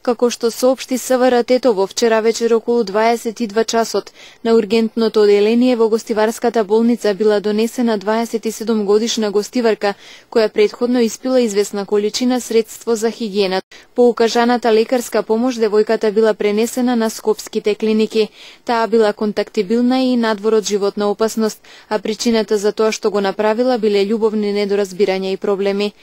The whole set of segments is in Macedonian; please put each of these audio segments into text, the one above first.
Како што соопшти СВР Тетово вчера вечер околу 22 часот, на ургентното оделение во гостиварската болница била донесена 27 годишна гостиварка, која претходно испила известна количина средство за хигиена. По укажаната лекарска помош, девојката била пренесена на скопските клиники. Таа била контактибилна и надвор од животна опасност, а причината за тоа што го направила биле љубовни недоразбирања и проблеми.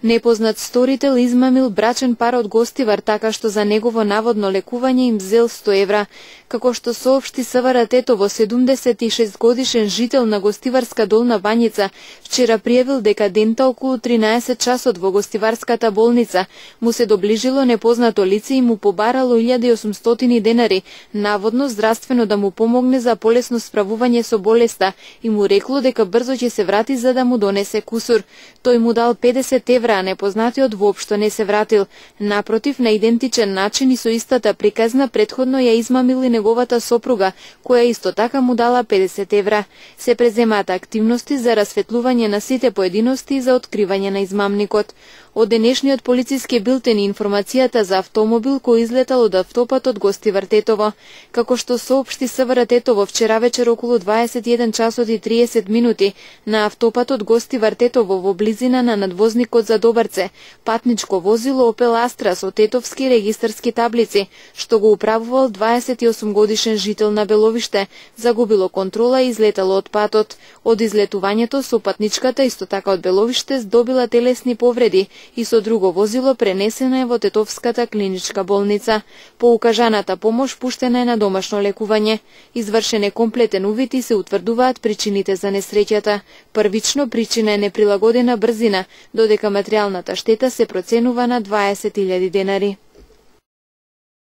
Непознат сторител измамил брачен пар од гостивар така што за негово наводно лекување им зел 100 евра. Како што соопшти СВР Тетово, 76 годишен жител на гостиварска Долна Бањица вчера пријавил дека дента околу 13 часот во гостиварската болница му се доближило непознато лице и му побарало 1800 денари, наводно здравствено да му помогне за полесно справување со болеста и му рекло дека брзо ќе се врати за да му донесе кусур. Тој му дал 50 евра, а непознатиот воопшто не се вратил. Напротив, на идентичен начин и со истата приказна претходно ја измамил и неговата сопруга, која исто така му дала 50 евра. Се преземаат активности за расветлување на сите поединости и за откривање на измамникот. Од денешниот полициски билтен и информацијата за автомобил кој излетал од автопатот Гостивар Тетово. Како што соопшти СВР Тетово вчера вечер околу 21 часот и 30 минути на автопатот Гостивар Тетово во близина на надвозникот за Добарце, патничко возило Опел Астра со тетовски регистарски таблици, што го управувал 28 годишен жител на Беловиште, загубило контрола и излетало од патот. Од излетувањето со патничката исто така од Беловиште здобила телесни повреди и со друго возило пренесена е во Тетовската клиничка болница. По укажаната помош пуштена е на домашно лекување. Извршен е комплетен увид и се утврдуваат причините за несреќата. Првично причина е неприлагодена брзина, додека материјалната штета се проценува на 20.000 денари.